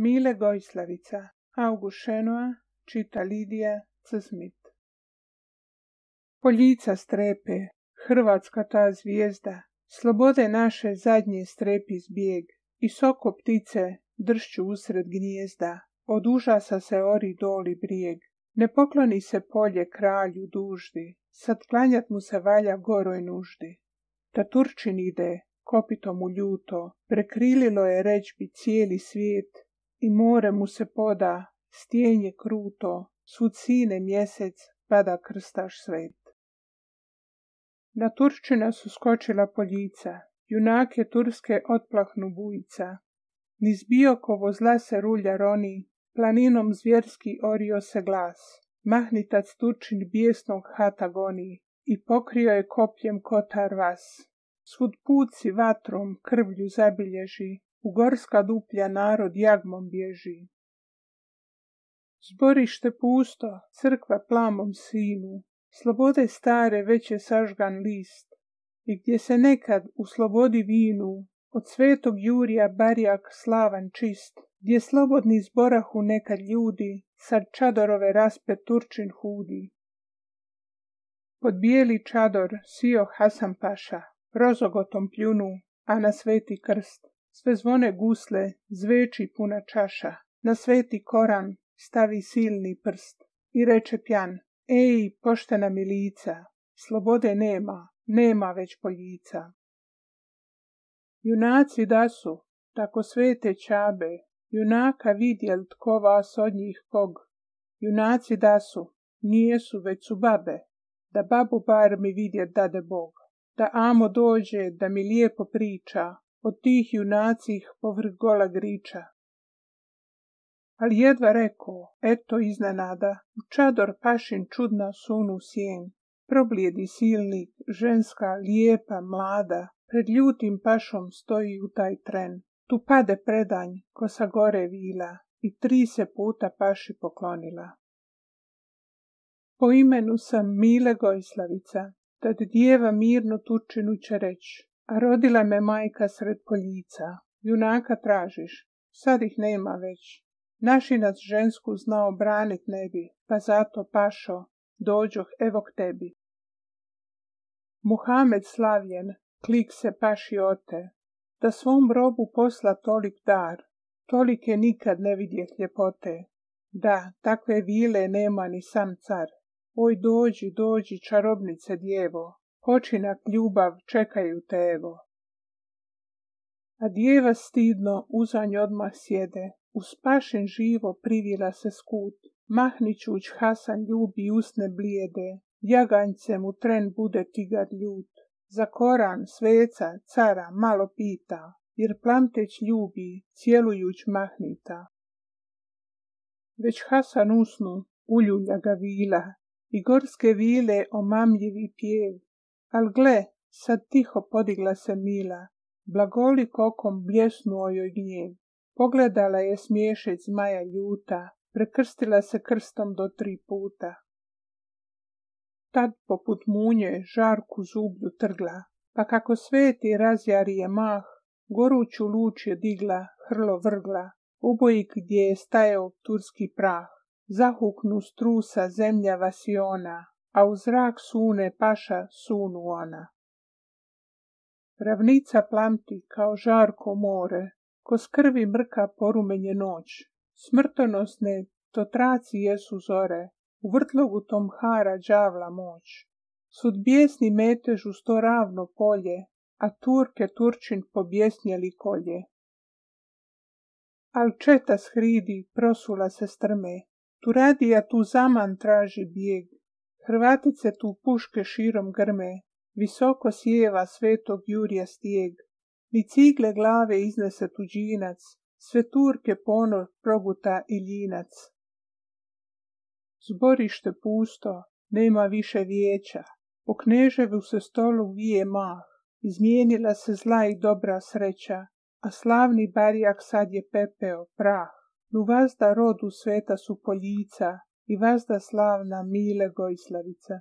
Mile Gojslavica, August Šenoa, čita Lidija Cizmit. Poljica strepe, Hrvatska ta zvijezda, slobode naše zadnje strepi zbjeg, i soko ptice dršću usred gnijezda, od užasa se ori doli brijeg. Ne pokloni se polje kralju duždi, sad klanjat mu se valja goroj nuždi. Ta Turčin ide, kopito mu ljuto, prekrililo je ređbi cijeli svijet, i more mu se poda, stjenje kruto, svud sine mjesec, pada krstaš svet. Na Turčina su skočila poljica, junake turske otplahnu bujica. Niz Biokovo zla se rulja roni, planinom zvjerski orio se glas. Mahnitac Turčin bijesnog hata goni, i pokrio je kopljem kotar vas. Svud puci vatrom krvlju zabilježi, u gorska duplja narod jagmom bježi. Zborište pusto, crkva plamom sinu, slobode stare već je sažgan list, i gdje se nekad u slobodi vinu, od svetog Jurija barjak slavan čist, gdje slobodni zborahu nekad ljudi, sad čadorove raspe Turčin hudi. Pod bijeli čador sio Hasan paša, rozogotom pljunu, a na sveti krst, sve zvone gusle, zveči puna čaša, na sveti Koran stavi silni prst i reče pjan: ej, poštena milica, slobode nema već poljica. Junaci da su, tako svete čabe, junaka vidjel tko vas od njih kog. Junaci da su, nijesu već su babe, da babu bar mi vidjet dade Bog. Da amo dođe, da mi lijepo priča, od tih junacih povrh gola griča. Ali jedva rekao, eto iznenada, u čador pašin čudna sunu sjen. Problijedi silnik, ženska, lijepa, mlada, pred ljutim pašom stoji u taj tren. Tu pade predanj, ko sa gore vila, i 3 se puta paši poklonila. Po imenu sam Mile Gojslavica, tad djeva mirno Turčinu će reć, a rodila me majka sred poljica. Junaka tražiš, sad ih nema već. Našinac žensku znao branit ne bi, pa zato pašo, dođoh evo k tebi. Muhamed slavljen, klik se paši ote, da svom robu posla tolik dar, tolike nikad ne vidjeh ljepote. Da, takve vile nema ni sam car. Oj, dođi, čarobnice djevo, počinak ljubav čekaju te evo. A djeva stidno uzanj odmah sjede, uz pašin živo privila se skut. Mahnićuć Hasan ljubi usne blijede, jaganjcem u tren bude tigar ljut. Za Koran, sveca, cara malo pita, jer plamteć ljubi, cijelujuć mahnita. Već Hasan usnu, uljulja ga vila, i gorske vile omamljivi pjev. Al gle, sad tiho podigla se mila, blagolik okom bljesnuo joj gnjev. Pogledala je smiješeć zmaja ljuta, prekrstila se krstom do 3 puta. Tad poput munje žarku zublju trgla, pa kako sveti razjari je mah, goruću luč je digla, hrlo vrgla, ubojik gdje je stajao turski prah. Zahuknu strusa zemlja vasiona, a u zrak sune paša sunu ona. Ravnica plamti kao žarko more, ko s krvi mrka porumenje noć. Smrtonosne to traci jesu zore, u vrtlogu tom hara đavla moć. Sud bijesni metež uz to ravno polje, a Turke Turčin pobjesnjeli kolje. Al četa s hridi prosula se strme, Turadija tu zaman traži bijeg, Hrvatice tu puške širom grme, visoko sjeva svetog Jurija stijeg, ni cigle glave iznese tuđinac, sve Turke ponor proguta i ljinac. Zborište pusto, nema više vijeća, po kneževu se stolu vije mah, izmijenila se zla i dobra sreća, a slavni barjak sad je pepeo, prah. Nu vazda rodu sveta su poljica i vazda slavna Mile Gojslavica.